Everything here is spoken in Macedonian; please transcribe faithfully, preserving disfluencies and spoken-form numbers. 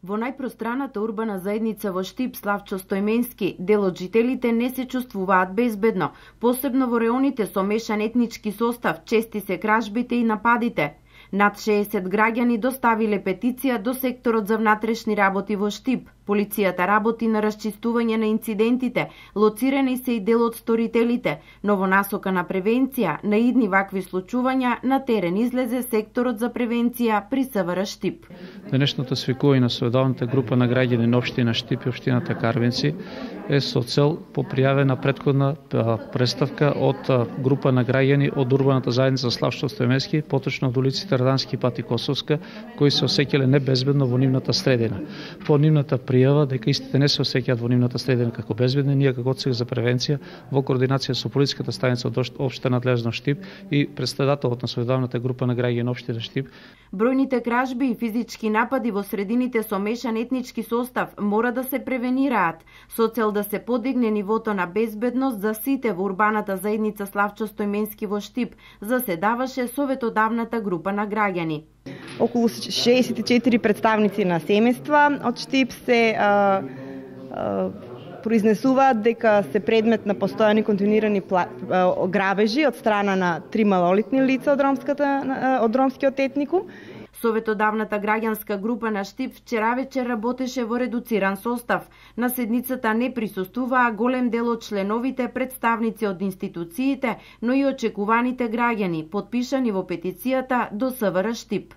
Во најпространата урбана заедница во Штип, Славчо Стојменски, дел од жителите не се чувствуваат безбедно, посебно во реоните со мешан етнички состав, чести се кражбите и нападите. Над шеесет граѓани доставиле петиција до секторот за внатрешни работи во Штип. Полицијата работи на расчистување на инцидентите, лоцирани се и дел од сторителите, но во насока на превенција на идни вакви случувања на терен излезе секторот за превенција при СВР Штип. Денешното свикување на советовната група на граѓани на општина Штип и општината Карвенци е со цел по пријавена претходна представка од група на граѓани од урбаната заедница Славчо Стојменски, поточно од улиците Радански пат и Косовска, кои се осеќале небезбедно во нивната средина. По нивната пријава дека истите не се осеќаат во нивната средина како безбедни, ние како Одсек за превенција во координација со полициската станица од општа надлежност Штип и председателот на советовната група на граѓани на општина Штип. Бројните кражби и физички напади во средините со мешан етнички состав мора да се превенираат со цел да се подигне нивото на безбедност за сите во урбаната заедница Славчо Стојменски во Штип, заседаваше советодавната група на граѓани. Околу шеесет и четири представници на семејства од Штип се а, а, произнесуваат дека се предмет на постојани континуирани грабежи од страна на три малолетни лица од ромската од ромскиот етникум. Советодавната граѓанска група на Штип вчера вечер работеше во редуциран состав. На седницата не присуствуваа голем дел од членовите, представници од институциите, но и очекуваните граѓани, потпишани во петицијата до СВР Штип.